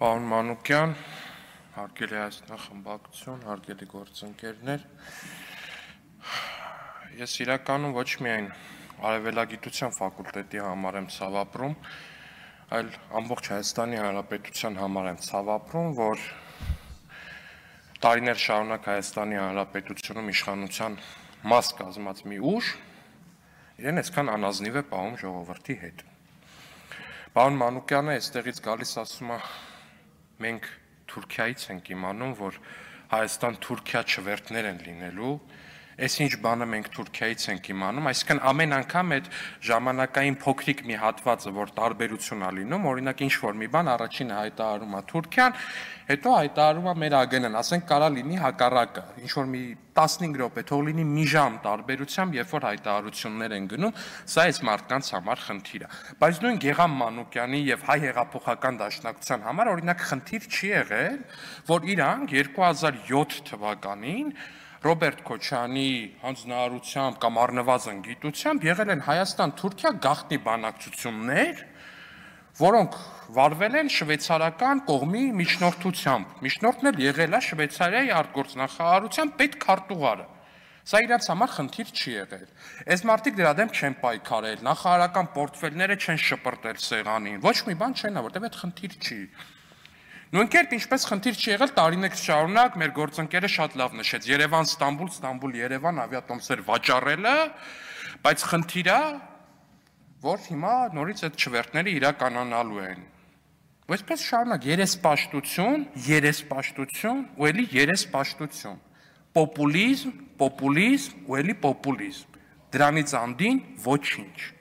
Պարոն Մանուկյան, հարգելի Հայաստան խմբակցություն, հարգելի գործընկերներ, ես իրականում ոչ միայն արևելագիտության ֆակուլտետի համար եմ ցավ ապրում, այլ ամբողջ Հայաստանի Հանրապետության համար եմ ցավ ապրում, որ տարիներ շարունակ Հայաստանի Հանրապետությունում իշխանության մաս կազմած մի ուժ իրեն այսքան անազնիվ է պահում ժողովրդի հետ։ Պարոն Մանուկյանը այստեղից գալիս ասում է, մենք Թուրքիայից ենք իմանում, որ Հայաստան-Թուրքիա չվերթներ են լինելու, այս ինչ բանը մենք Թուրքիայից ենք իմանում, այսինքն ամեն անգամ այդ ժամանակային փոքրիկ մի հատվածը, որ տարբերություն է լինում, օրինակ ինչ-որ մի բան առաջինը հայտարարում է Թուրքիան, հետո հայտարարում է մեր ԱԳՆ-ն, ասենք կարա լինի հակառակը, ինչ-որ մի 15 րոպե, թող լինի մի ժամ տարբերությամբ, երբ որ հայտարարություններ են գնում, սա այս մարդկանց համար խնդիր է։ Բայց նույն Գեգամ Մանուկյանի եւ Հայ հեղափոխական դաշնակցության համար օրինակ խնդիր չի եղել, որ իրանք 2007 թվականին Ռոբերտ Քոչյանի հանձնարարությամբ կամ առնվազն գիտությամբ եղել են Հայաստան-Թուրքիա գաղտնի բանակցություններ, որոնք վարվել են շվեյցարական կողմի միջնորդությամբ։ Միջնորդն էլ եղել է Շվեյցարիայի արտգործնախարարության պետքարտուղարը։ Սա իրաց համար խնդիր չի եղել։ Այս մարդիկ դրա դեմ չեն պայքարել, նախարարական պորտֆելները չեն շպրտել սեղանին։ Ոչ մի բան չեն, որտեղ այդ խնդիր չի։ Նույնքերպ ինչպես խնդիր չի եղել տարիներ շարունակ մեր գործընկերը շատ լավ նշեց Երևան-Ստամբուլ, Ստամբուլ-Երևան ավիատոմսեր վաճառելը, բայց խնդիրը, որ հիմա նորից այդ չվերթները իրականանալու են։ Այսպես շարունակ երեսպաշտություն ու էլի երեսպաշտություն, պոպուլիզմ ու էլի պոպուլիզմ, դրանից անդին ոչինչ։